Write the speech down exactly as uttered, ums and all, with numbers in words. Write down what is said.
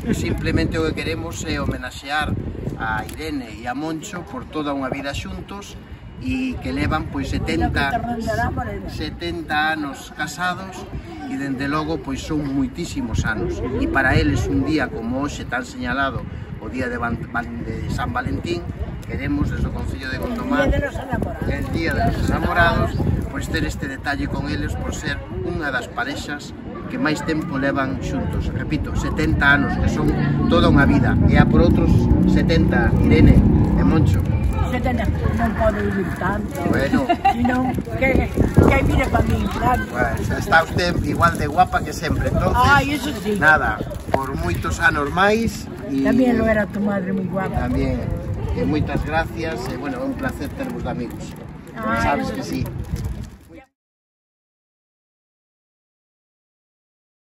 Simplemente o que queremos é homenaxear a Irene e a Moncho por toda unha vida xuntos e que levan pois setenta anos casados e dende logo pois son moitísimos anos e para eles un día como hoxe tan señalado, o día de, Van, de San Valentín, queremos desde o Concello de Gondomar, el día de los enamorados, pois ter este detalle con eles por ser unha das parexas que máis tempo levan xuntos. Repito, setenta anos, que son toda unha vida, e a por outros setenta, Irene e Moncho. setenta, non podo vivir tanto. Bueno. Sino que, que hai vida para mí, claro. Pues está usted igual de guapa que sempre, entonces. Ay, eso sí. Nada, por moitos anos máis. Y tamén lo era tu madre moi guapa. Tamén. E moitas gracias, e bueno, é un placer tervos de amigos. Ay, sabes que sí.